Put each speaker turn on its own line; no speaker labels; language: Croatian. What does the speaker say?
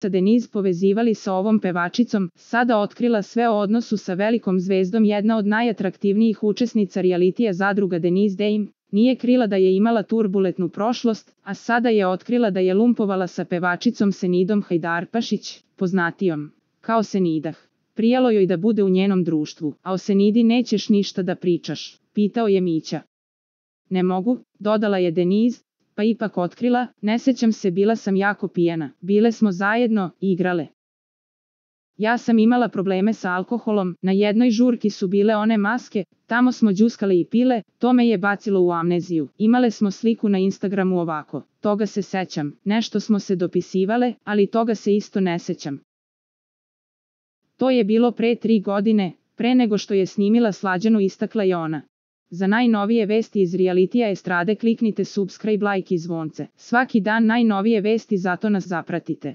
sa Denise povezivali sa ovom pevačicom, sada otkrila sve o odnosu sa velikom zvezdom. Jedna od najatraktivnijih učesnica realitija Zadruga Denise Dame nije krila da je imala turbulentnu prošlost, a sada je otkrila da je lumpovala sa pevačicom Senidom Hajdarpašić, poznatijom kao Senidah. Prijalo joj da bude u njenom društvu. A o Senidi nećeš ništa da pričaš, pitao je Mića. Ne mogu, dodala je Denise, pa ipak otkrila, ne sećam se, bila sam jako pijana, bile smo zajedno, igrale. Ja sam imala probleme sa alkoholom, na jednoj žurki su bile one maske, tamo smo đuskale i pile, to me je bacilo u amneziju. Imale smo sliku na Instagramu ovako, toga se sećam, nešto smo se dopisivale, ali toga se isto ne sećam. To je bilo pre 3 godine, pre nego što je snimila Slađanu, istakla je ona. Za najnovije vesti iz realitija estrade kliknite subscribe, like i zvonce. Svaki dan najnovije vesti, zato nas zapratite.